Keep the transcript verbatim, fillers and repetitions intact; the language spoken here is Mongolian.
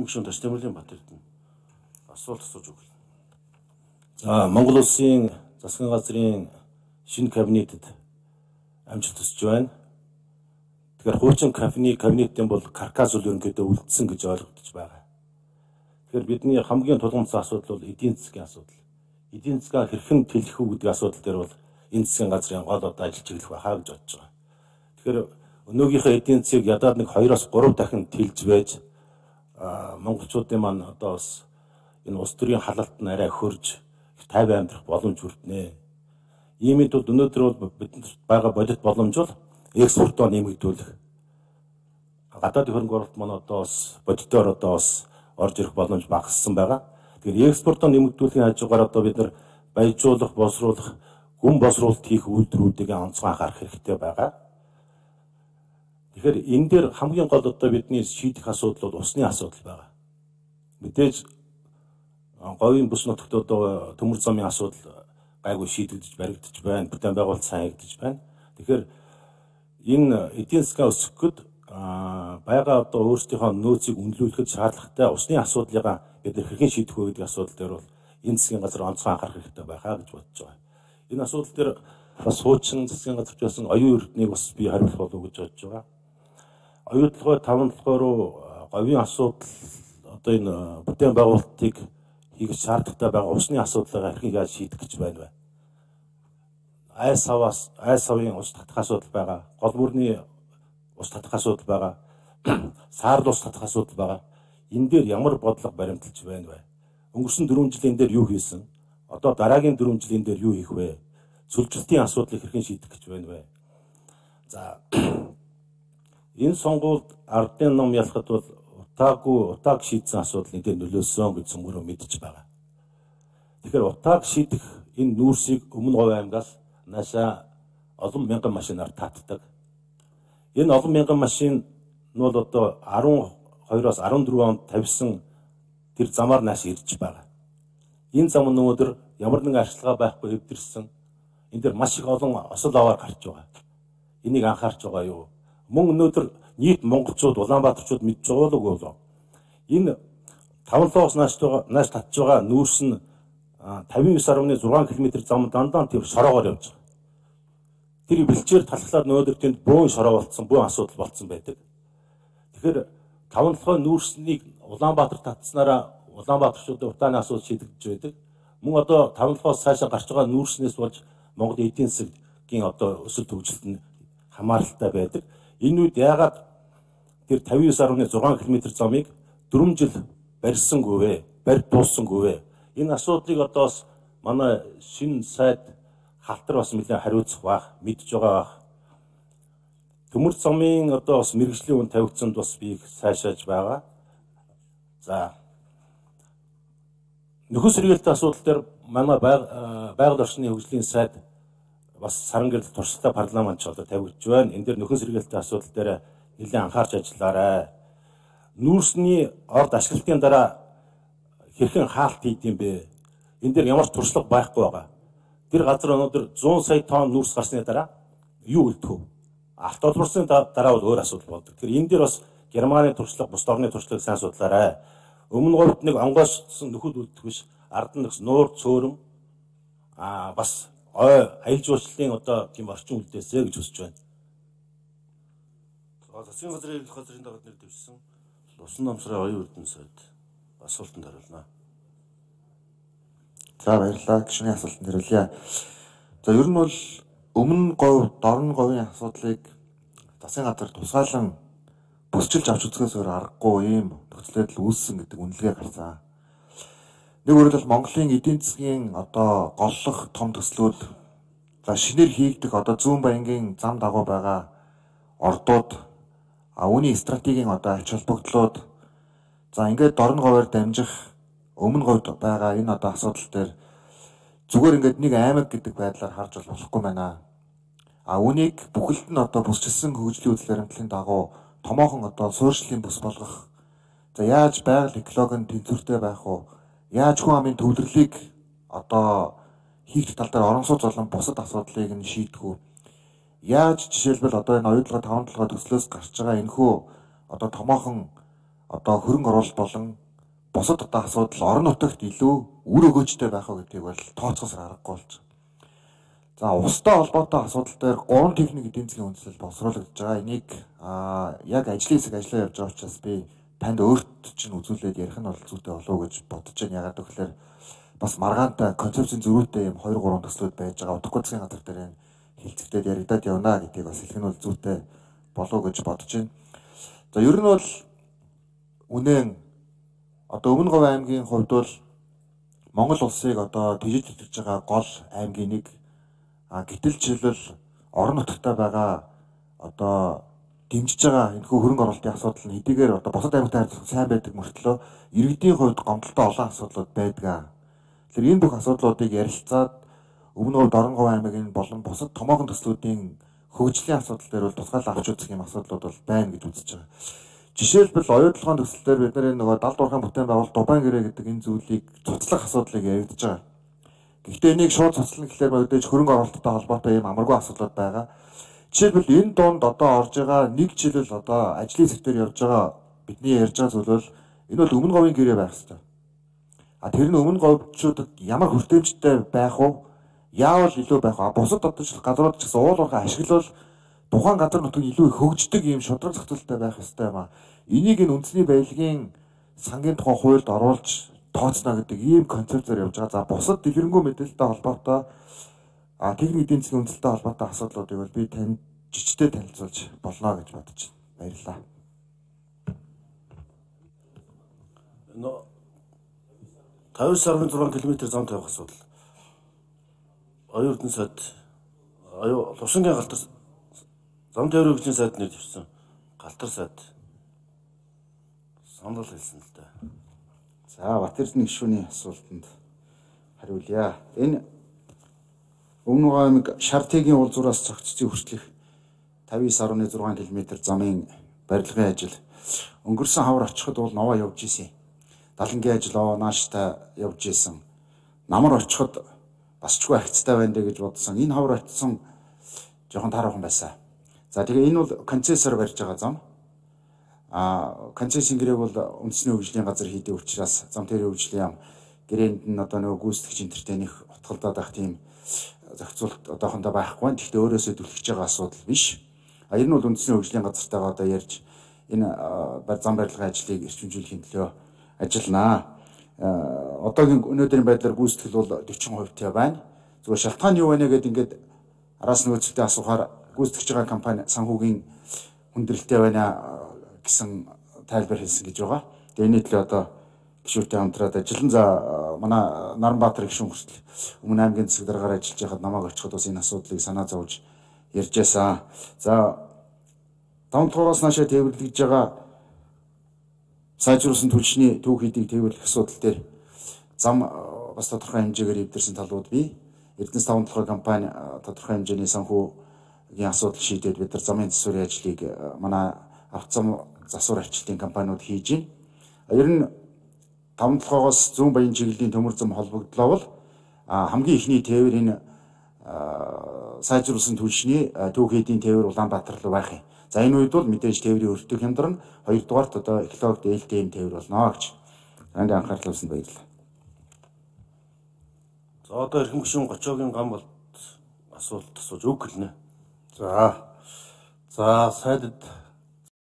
Гүшүүн Ташдамрын Батэрдэн асуулт асууж өгөл. За Монгол Улсын засгийн газрын шинэ кабинетэд амжилт хүсэж байна. Тэгэхээр хуучин кабинет кабинетэн бол каркас үл ерөнхийдөө үлдсэн гэж ойлгогдож байгаа. Тэгэхээр бидний хамгийн тулгымцсан асуудал бол эдийн засгийн асуудал. Эдийн засгаа хэрхэн тэлэх үү гэдэг асуудал дээр бол энэ засгийн газрын гол одоо ажил чиглэх байхаа гэж бодож байгаа. Тэгэхээр өнөөгийнхөө эдийн засгийг ядаад нэг хоёроос гурав дахин тэлж байж монголчуудын маань одоо бас энэ улс төрийн халалт нь арай хөрж тайван амьдрах боломж хүртнэ. Иймд бол өнөөдөр бол бидэнд байгаа бодит боломж бол экспортоо нэмэгдүүлэх. Гадаадын хөрөнгө оруулалт маань одоо бас бодитоор одоо бас орж ирэх боломж багассан байгаа. Тэгэхээр экспортоо нэмэгдүүлэхийн хажуугаар одоо бид нар баяжуулах, боловсруулах, гүн боловсруулалт хийх үйлдвэрүүдийг онцгой анхаарах хэрэгтэй байгаа. Тэгэхээр энэ дээр хамгийн гол одоо бидний шийдэх асуудал бол усны асуудал байгаа. Мэдээж говийн бүс нутагт одоо төмөр замын асуудал гайгүй шийдэгдэж баригдаж байна. Бүтээн байгуулалт сайн хийгдэж байна. Тэгэхээр энэ эдийн засгаа өсгөхөд байгаа одоо өөрсдийнхөө нөөцийг үнэлүүлэхэд шаардлагатай усны асуудлыг бид хэрхэн шийдэх вэ гэдэг асуудал дээр бол энэ засгийн газар онцгой анхаарах хэрэгтэй байхаа гэж бодож байгаа. Энэ асуудал дээр бас хуучин засгийн газарч байсан оюун эрднийг бас би хариулах болов уу гэж бодож байгаа. Оюун толгой таван толгой руу говийн асуудал одоо энэ бүтээн байгуулалтыг хийх шаардлагатай байгаа усны асуудлыг хэрхэн яаж шийдэх гэж байна вэ? Айс саваас айс савын ус татах асуудал байгаа. Гол бүрний ус татах асуудал байгаа. Саарл ус татах асуудал байгаа. Энэ дээр ямар бодлого баримталж байна вэ? Өнгөрсөн дөрвөн жилийн дээр юу хийсэн? Одоо дараагийн дөрвөн жилийн дээр юу хийх вэ? Цөлжилтийн асуудлыг хэрхэн шийдэх гэж байна вэ? За энэ сонгуульд ардын ном ялахад бол утаагүй утааг шийдсэн асуудал энэ дээр нөлөөсөн гэж цөмгөрөө мэдж байгаа. Тэгэхээр утааг шийдэх энэ нүүрсийг өмнө говь аймгаас наашаа олон мянган машинаар татдаг. Энэ олон мянган машин нь бол одоо арван хоёроос арван дөрвөн онд тавьсан тэр замаар нааш ирж байгаа. Энэ зам нь өнөөдөр ямар нэгэн арчилгаа байхгүй хэвдэрсэн. Энэ дээр маш их олон осол аваар гарч байгаа. Энийг анхаарч байгаа юу? Мөн өнөөдөр нийт монголчууд, Улаанбаатарчууд мэдж байгаа л үгүй. Энэ таван лоос нааш нааш татж байгаа нүүрс нь тавин девять дашь зургаан километр зам дандаа тэр шороогоор явж байгаа. Тэр бэлчээр талхлаад өнөөдөр тэнд бөөн шороо болцсон, бөөн асуудал болцсон байдаг. Тэгэхээр таван толгой нүүрснийг Улаанбаатар татснараа Улаанбаатарчуудын утааны асуудал шийдэгдэж байдаг. Мөн одоо таван толгоос цаашаа гарч байгаа нүүрснээс болж Монголын эдийн засгийн одоо өсөлт хөгжилт нь хамааралтай байдаг. Энэ үед яагаад тэр тавин девять дашь зургаан километр замыг дөрвөн жил барьсангүй вэ? Барь дуусангүй вэ? Энэ асуудлыг одоо манай шинэ сайд халтар бас нэлээд хариуцах байх, мэдж байгаа байх. Төмөр замын одоо бас мэргэжлийн үн тавигдсанд бас би сайшааж байгаа. За нөхөс сэргээлтийн асуудал дээр манай байгаль орчны хөгжлийн сайд бас саран гэрэл туршлагатай парламент ч одоо тавигдж байна. Энэ дээр нөхөн сэргээлтийн асуудал дээр нэлээд анхаарч ажиллаарай. Нүүрсний орд ашиглалтын дараа хэрхэн хаалт хийдэм бэ? Энэ дээр ямар ч туршлага байхгүй байгаа. Тэр газар өнөөдөр зуун сая тонн нүүрс гарсны дараа юу үлдэх вэ? Автолборсын дараа бол өөр асуудал болдог. Тэр энэ дээр бас Германы туршлага, бус орны туршлагыг сайн судлаарай. Өмнө говьд нэг онгойсон нөхөд үлдэх биш, ард нь нуур цөөрөн аа бас ой аялал жуулчлалын одоо тийм орчин үлдээсэй гэж хүсэж байна. Засгийн газрын эрх газрын дагаад нэр дэвшсэн усан намсрын оюун эрдэнэ сайд асуултанд хариулна. За баярлалаа. Гишүүний асуултанд хариулъя. За ер нь бол өмнө говь, дорн говийн асуудлыг засгийн газар тусгаалan бүсчилж авч үзэхээс өөр аргагүй ийм нөхцөл байдал үүссэн гэдэг үнэлгээ гарсан. Нэг өөрөлд Монголын эдийн засгийн одоо голлох том төслүүд за шинээр хийгдэх одоо зүүн баянгийн зам дагуу байгаа ордууд а үүний стратегийн одоо ач холбогдлууд за ингээд дорн говьор дамжих өмнө говьд байгаа энэ одоо асуудал дээр зүгээр ингээд нэг аймаг гэдэг байдлаар харж болохгүй байна. А үүнийг бүхэлд нь одоо бүсчилсэн хөгжлийн үйл баримтлалын дагуу томоохон одоо суурьшлийн бүс болгох. За яаж байгаль экологийн тэнцвэртэй байх вэ? Яаж хүн амын төвлөрлийг одоо хийх тал дээр орон сууц болон бусад асуудлыг нь шийдэх үү? Яаж жишээлбэл одоо энэ оюутлага таван толгой төслөөс гарч байгаа энэхүү одоо томоохон одоо хөрөнгө оруулалт болон бусад одоо асуудал орон нутагт илүү үр өгөөжтэй байх уу гэдгийг бол тооцоосоор аргагүй болж байна. За устай холбоотой асуудал дээр гурван техник эдийн засгийн үндэслэл боловсруулагдж байгаа. Энийг яг ажлын хэсэг ажиллаа явж байгаа учраас би танд өөрт чинь үзүүлээд ярих нь бол зүйтэй болов уу гэж бодож байна. Ягаад гэвэл бас маргаантай концепцийн зөрүүтэй юм хоёр гурван төслүүд байж байгаа. Утгагүй засгийн газар дээр энэ хилцэгдээд яригадаад явна гэдгийг бас хэлэх нь бол зүйтэй болов гэж бодож байна. За ер нь бол үнэн одоо Өмнө Говь аймгийн хувьд бол Монгол улсыг одоо тэжиж итгэж байгаа гол аймгийн нэг. А гэтэл жишээлбэл орон нутагтаа байгаа одоо дэмжиж байгаа энэхүү хөрөнгө оруулалтын асуудал нь хэдийгээр одоо бусад аймагтай харьцуулахад сайн байдаг мөртлөө иргэдийн хувьд гомдолтой олон асуудлууд байдаг. Тэгэхээр энэ бүх асуудлуудыг ярилцаад Өмнө Говь Дорн Говь аймгийн болон бусад томоохон төслүүдийн хөгжлийн асуудал дээр бол тусгаал авч үзэх юм асуудлууд бол байна гэж үзэж байгаа. Жишээлбэл оюутлогын төсөл дээр бид нар нөгөө далд уурхайн бүтээн байгуулалт Дубайн гэрээ гэдэг энэ зүйлийг цуцлах асуудлыг яригдж байгаа. Гэхдээ энийг шууд цуцлах гэхлээр мэдээж хөрөнгө оруулалттай холбоотой юм амаргүй асуудлууд байгаа. Жишээлбэл энэ донд одоо орж байгаа нэг жишээлбэл одоо ажлын сектор явж байгаа бидний ярьж байгаа зүйл бол энэ бол Өмнө Говийн гэрээ байх хэрэгтэй. А тэр нь Өмнө Говьчуудад ямар хүртээмжтэй байх уу? Яавал илүү байх вэ? Бусад одоо газрууд ч гэсэн уул уурхай ашиглал тухайн газар нутгийн илүү их хөгждөг юм шудраг зохицуулалттай байх ёстой юм а. Энийг энэ үндэсний баялагын сангийн тухай хуульд оруулж тооцно гэдэг ийм концепцээр явж байгаа. За бусад дэлгэрэнгүй мэдээлэлтэй холбоотой а техник эдийн засгийн үндэслэлтэй холбоотой асуудлуудыг бол би танд жижигтэй танилцуулж болно гэж бодож байна. Баярлалаа. Но тавьж сарвын зургаан километр зам тавих асуудал. Оюутны сайд аюу Лувшингийн галтар зам тавир хөгжлийн сайд нэр тавьсан. Галтар сайд санал хэлсэн л дээ. За Батэрдэн гишүүний асуултанд хариулъя. Энэ Өмнө Говь аймаг Шартигийн уулзуураас цогццын хүртэлх тавьж сарвны зургаан километр замын барилгын ажил өнгөрсөн хавар очиход бол новоо явж исэн. Далангийн ажил оо нааштай явж исэн. Намар очиход бас чгүй агцтай байна дэ гэж бодсон. Энэ хавар очсон жоохон таарахын байсан. За тэгээ энэ бол концессор барьж байгаа зам. А концессийн гэрээг бол үндэсний хөгжлийн газар хийдэг учраас зам тэрийн хөгжлийн яам гэрээнд нь одоо нөгөө гүйцэтгэгч энтертэй нэх утгалдаад байх тийм зохицуулт одоохондоо байхгүй байна. Гэхдээ өөрөөсөө түлхэж байгаа асуудал биш. А энэ нь бол үндэсний хөгжлийн газартайгаа одоо ярьж энэ зам барилгын ажлыг эрчимжүүлэхийн төлөө ажилланаа. Одоогийн өнөөдрийн байдлаар гүйцэтгэл бол дөрвөн хувь байна. Зүгээр шалтгаан юу байна гэдэг ингээд араас нөөцтэй асуухаар гүйцэтгэж байгаа компани санхүүгийн хүндрэлтэй байна гэсэн тайлбар хэлсэн гэж байгаа. Тэгээ энэ төлөө одоо гишүүртэй хамтраад ажиллан за манай Наранбаатар гишүүн хүртэл Өмнө аймгийн засаг дараагаар ажиллаж байхад намайг очиход бас энэ асуудлыг санаа зовж ярьж байсан. За таван дугаараас наашаа тээвэрлэж байгаа сайжруулсан түлшний түүх хийдийг тээвэрлэх асуудал дээр зам бас тодорхой хэмжээгээр эвдэрсэн талууд бий. Эрдэнэс таван толгой компани тодорхой хэмжээний санхүүгийн асуудал шийдээд бид нар замын засварын ажлыг манай авто зам засвар арчилтын компаниуд хийж байна. Ер нь таван толгоогоос зүүн баян чиглэлийн төмөр зам холбогдлоо бол хамгийн ихний тээвэр энэ сайжруулсан түлшний түүх хийдийн тээвэр Улаанбаатар руу байх юм. За энэ үед бол мэдээж тээврийн өртөг хямдар нь хоёрдугаарт одоо экологид ээлтэй юм тээвэр болно гэж. Танд анхаарал тавьсанд баярлалаа. За одоо эрхэм гишүүн Гочоогийн гам болт асуулт асууж үг гэлнэ. За. За сайдд